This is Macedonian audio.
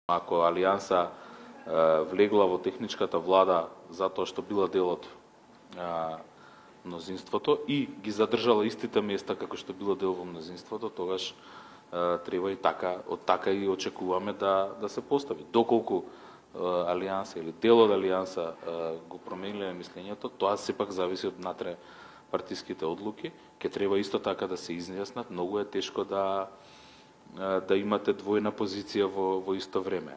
Ако Алијанса влегла во техничката влада затоа што била дел од мнозинството и ги задржала истите места како што била дел во мнозинството, тогаш треба и така и очекуваме да се постави. Доколку Алијанса или дел од Алијанса го промениле мислењето, тоа сепак зависи од внатре партиските одлуки. Ке треба исто така да се изјаснат. Многу е тешко да имате двојна позиција во исто време.